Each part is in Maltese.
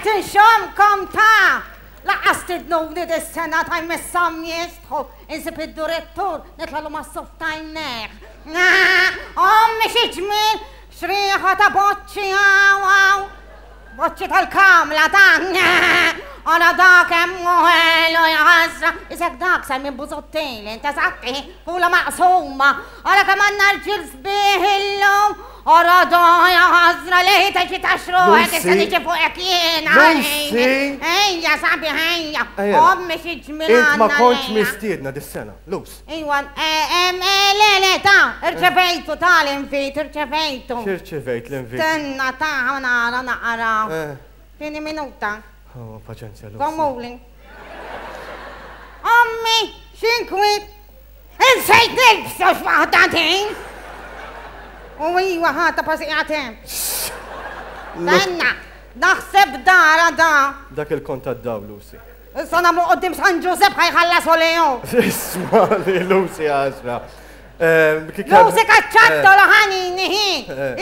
Qed inxommkom ta! Lanqas stidnuni dis-sena ta' jmisshom jistħu, insib id-direttur nitlalu mas-suf t'għajnejh. Ommi xi ġmiel, x'riħa ta' boċċi hawn hawn. Boċċi tal-kamla ta' Ara dak hemm ħelu jħassra. Isek dak Simon Busuttil, inta saqti, fula maqsuma. Ara kemm għandna rġiel sbieħ illum. Ara da jħassra li teġi taxruħek issa niġi fuqek jiena. Lucy! Ejja sabiħ ejja. Ommi xi ġmiel Int ma kontx mistiedna dis-sena, Lus. Iwa, le, le, ta, irċevejtu ta l-invit, irċevejtu. X'irċevejt l-invit? Stenna ta nara naqra. Tieni minuta. Oh, paċenzja, Lucy. Zommuli. Ommi, x'inkwiet. Insejt nilbsu x'waħda din. U iwa ħata pasi qiegħed Stenna, naħseb dara da. Dak il-kont tad-dawl, Lucy. Issa nagħmlu quddiem San Ġużepp ħa jħallasu lilu. Isma' li Lucy għażla. Lucy kaċċattu l-ħanini hi.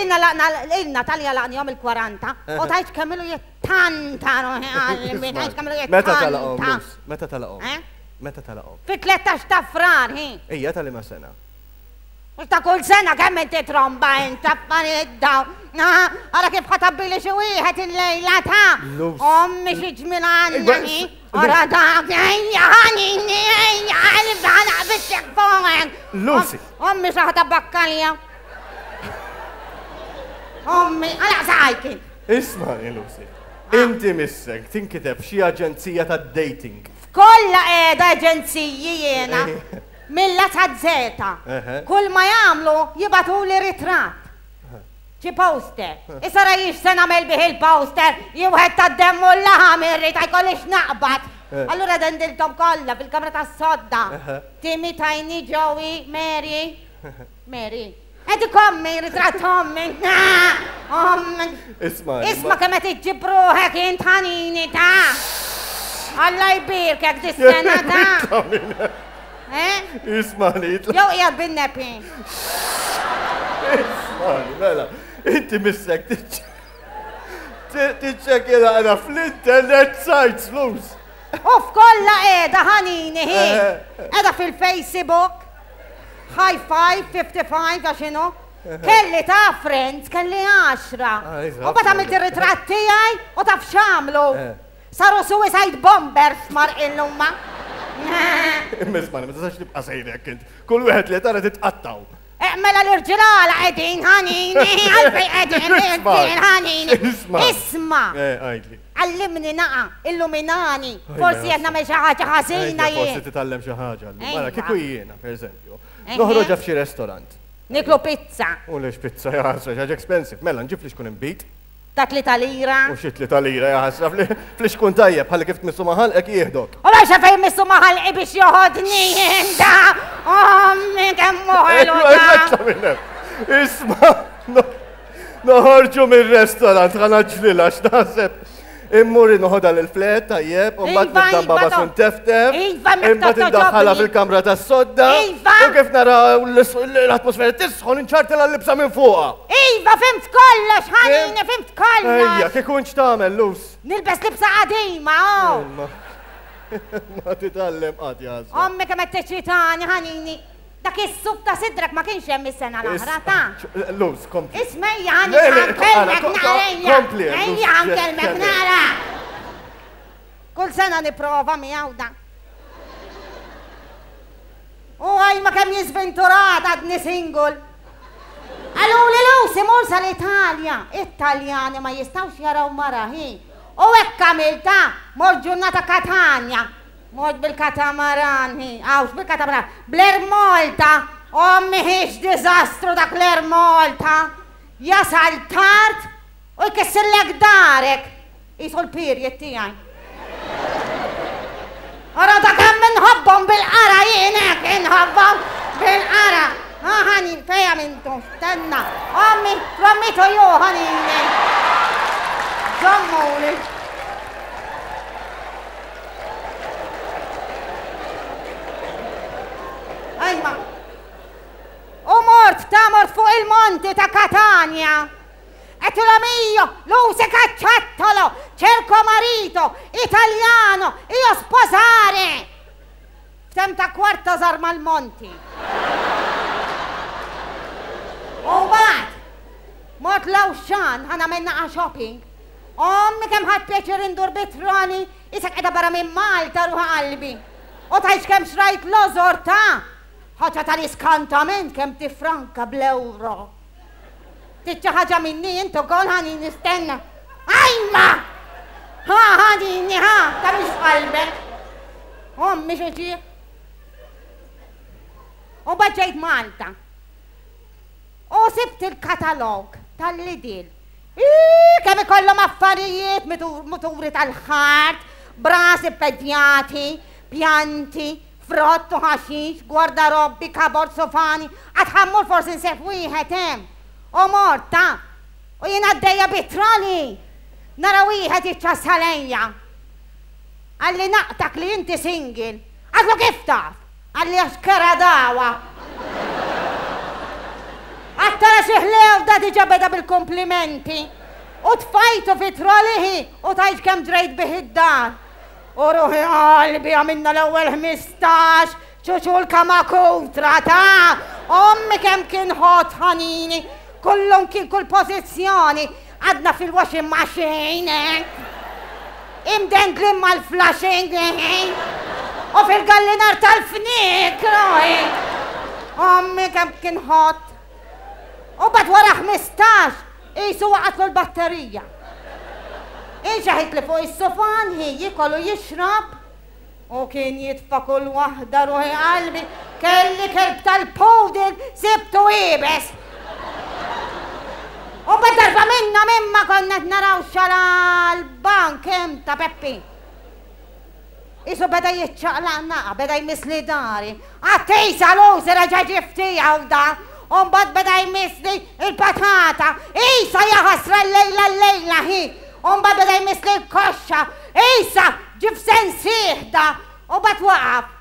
Ilna laqna ilna talja laqnihom il-40 u tajt kemm ilu jittanta ruħi qalbi, tajt kemm ilu jittanta. Meta talaqhom Lus? Meta talaqhom? Meta talaqhom? Fit-13 ta' Frar hi. Ejja tal-liema sena? Mhux ta' kull sena kemm inti tromba int affarijiet dawn. Ara kif ħa tabbili xi wieħed illejla ta' ommi xi ġmiel għandna hi. Ara dak ejja ħanini ejja qalbi ħa naqbisek fuqek. Lucy. Ommi xi ħa tabbakkalja. Ommi, għalaq saqajk int. Ismagħni Lucy. Inti missek tinkiteb f'xi aġenzija tad-dating. F'kollha qiegħda aġenziji jiena. Mill-A saz-Zeta. Kull ma jagħmlu jibagħtuli ritratt. Xi poster. Issa ra jien x'se nagħmel bih il-poster, jien wieħed tad-demm u l-laħam irrid ma jkollix naqbad. Allura dendilthom kollha fil-kamra tas-sodda. Timmy, Tiny, Joey, Mary. Mary. Qed ikommi, ritratt ommi. Ommi. Isma'. Isma' kemm qed iġġib ruħek int ħanini ta' Alla jbierkek dis-sena ta' Eh? Isma' li. Jew qiegħed bin-nepi. Isma' mela, inti missek tiċċekkja naqra fl-internet sites, Luz. U f'kollha qiegħda ħanini hi. Qiegħda fil-Facebook. High five, 55, għax inhu. Kelli ta' friends, kelli għaxra. Ah, U mbagħad għamilt ir-ritratt tiegħi u taf x'għamlu. Eh. Saru suicide bombers marqin huma. Imma isma' ma tistax tibqa' sejrek int. Kull wieħed li tara titqattaw. Eh, mela l-irġiel għala qegħdin ħanini, għalfejn qegħdin l-irġiel ħanini. Isma'. Isma'. Eh, għidli. Għallimni naqa', illuminani. Forsi qed nagħmel xi ħaġa ħażina jien. Forsi titgħallem xi ħaġa. Mela kieku jiena, pereżempju, noħroġha f'xi restorant. Niklu pizza. U lex pizza jaħasra, xi ħaġa expensive. Mela nġib li xkun inbid. Ta' tlieta lira. U xi tlieta lira jaħasra, fli xkun tajjeb, ħalli kif tmissu ma' ħalqek jieħdok. U mhux fejn missu ma' ħalqi biex joħodni da. Ommi kemm hu ħelu da. Isma' noħorġu mir-restorant ħa naġlilha x'naħseb. Immur noħodha l-flet tajjeb, u mbagħad Iva, nibda iva, nbabas to- u nteftef. Iva, mekk Imbagħad togħġobni. indaħħalha fil-kamra tas-sodda. Iva. U kif nara l-atmosfera tisħon inċartilha l-libsa minn fuqha. Iva, fhimt kollox, ħanini, fhimt kollox. Ejja, kieku int x'tagħmel, Lus? Nilbes libsa qadima, oh. Imma ma titgħallem qatt jaħasra. Ommi kemm qed teċċitani, ħanini. Dak is-suf ta' sidrek ma kienx hemm is-sena l-oħra, ta'. Luz, kompli. Isma' ejja ħa nkellmek naqra ejja. Kompli. Ejja ħa nkellmek naqra. Kull sena nipprova miegħu da. U għaj ma kemm jiżventurat għadni single. Qaluli Lucy mur sal-Italja. It-Taljani ma jistgħux jaraw mara hi. U hekk għamilta, mort ġurnata Katanja. Mort bil-katamaran, hi, għawx bil-katamaran, bl-Air Malta, ommi hix diżastru dak l-Air Malta, jasal tard u jkissirlek darek, qisu l-period tiegħi. Ara ta' kemm inħobbhom bil-qara jien hekk inħobbhom bil-qara. Ha ħani, fejn għamiltu? Stenna. Ommi, from me to you, ħanini. Żommuli. Ajma. U mort, ta' mort fuq il-monti ta' Katanja. Għedtilhom. mio, Lucy cacciattolo, cerco marito, italiano, io sposare. F'temp ta' kwarta żar mal-monti. U mbagħad mort l-Auchan ħa nagħmel naqa' shopping. Ommi kemm ħadt pjaċir indur bit-trolley, isek qiegħda barra minn Malta ruħ qalbi. U tgħidx kemm xrajt lożor ta' ħaġa tal-iskantament kemm tifranka bl-ewro. Trid xi ħaġa minni int ukoll ħanin nistenna. Ajma! Ha ħanini ha, ta' mhix f'qalbek. Ommi xi ġieħ. U ġejt Malta. U sibt il-katalog tal-Lidl. Kemm ikollhom affarijiet muturi tal-ħart, brasi ppedjati, pjanti, frott u ħaxix, gwardarobbi, kabord, sofani, għad ħa mmur forsi nsib wieħed hemm. U mort, ta. U jien għaddejja bit-trolley. Nara wieħed jiċċassa lejja. Qalli naqtak li inti single. Għadlu kif taf? Qalli għax kera dawa. Għad tara xi ħlew da diġà beda bil-kumplimenti. U tfajtu fi trolley u tgħidx kemm ġrejt bih id-dar. U ruħi qalbi għamilna l-ewwel 15 ċuċu l-kamakutra ta' ommi kemm kien hot ħanini, kullum kien kull pożizzjoni, għadna fil-washing machine, eh? Imdendlin mal-flushing, eh? U fil-gallinar tal-fnik, ruħi. Ommi kemm kien hot. U bad wara 15, qisu waqgħatlu l-batterija. Inxeħitli fuq is-sufan hi jiekol u jixrob u kien jitfa' kull waħda ruħi qalbi kelli kelb tal-poodle sibtu iebes. U mbagħad darba minnhom imma konna qed naraw xala l-bank hemm ta' Peppi. Qisu beda jiċċaqlaq naqa, beda jmissli dari. Għat-tisa l-użi reġa' ġie f'tiegħu da, u mbagħad beda jmissli l-patata. Isa jaħasra llejla llejla hi. U mbagħad beda jmissli l-koxxa. Isa ġie f'sensih da, u mbagħad waqaf.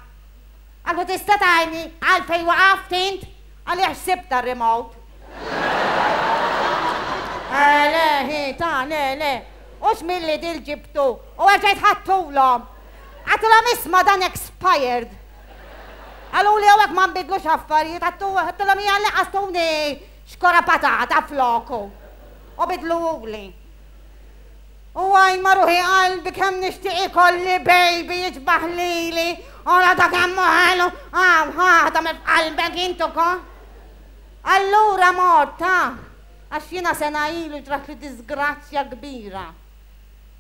Qallu tista' tgħidli għalfejn waqaft int? Qalli għax sibtha r-remote. Eh le hi, ta le le. Hux mill-Lidl ġibtu u erġajt ħadtulhom. Għedtilhom isma' dan expired. Qaluli hawnhekk ma nbiddlux affarijiet, għedtilhom hija lanqas tuni xkora patata floku. U bidluhuli. U għajma ruħi qalbi kemm nixtieq ikolli baby jiġbah lili. Ora ta' kemm hu ħelu, hawn ħa tagħmel f'qalbek int ukoll. Allura mort, ha. Għax jiena sena ilu ġratli diżgrazzja kbira.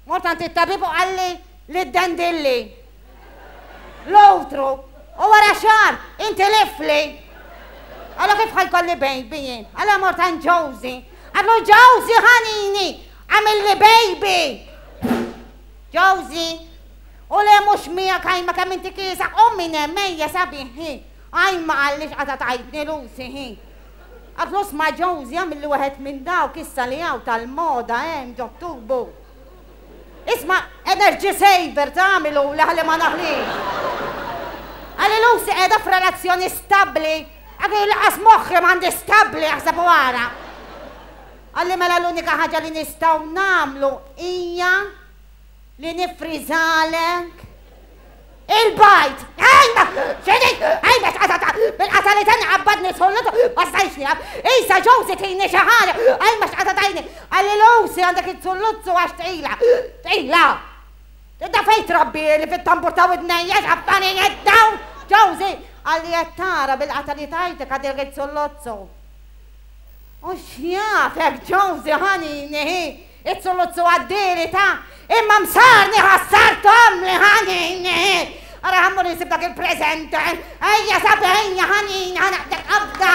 Mort għand it-tabib u qalli li ddendilli l-utru u wara xahar intilifli. Allura kif ħa jkolli baby jien? Allura mort għand Josie. Għadlu Josie ħanini, għamilli baby. Josie, u le mhux miegħek għajma kemm inti kiesaħ, u minn hemm ejja sabiħ hi. Għajma qallix qatgħet għajtni Lucy hi. Għadlu sma' Josie għamilli wieħed minn dawk issa li hawn tal-moda hemm ġot-tubu. Isma' energy saver tagħmiluli ħalli ma naħlix. Qalli Lucy qiegħda f'relazzjoni stabbli. Għadli lanqas moħħi m'għandi stabbli aħseb u ara. Qalli mela l-unika ħaġa li nistgħu nagħmlu hija li nifriżalek il-bajd. Ejma, xini, ejma, xqatata, bil-qata li tani qabbadni sullutu, ma stajx nieqaf. Isa Josie tini xi ħaġa, ejma xqatatajni. Qalli Lucy għandek it-sulluzzu għax tqila. Tqila. Da fejn trabbi li fit-tambur ta' widnejja x'affarijiet dawn, Josie. Qalli qed tara bil-qata li tajtek għadek it-sulluzzu. U x'jafek Josie ħanini hi. It-suluzzu għaddieli ta' imma msarni ħassarthom li ħanini. Ara ħa mmur insib dak il-presenter. Ejja sabi ejja ħanini ħa naqbdek qabda.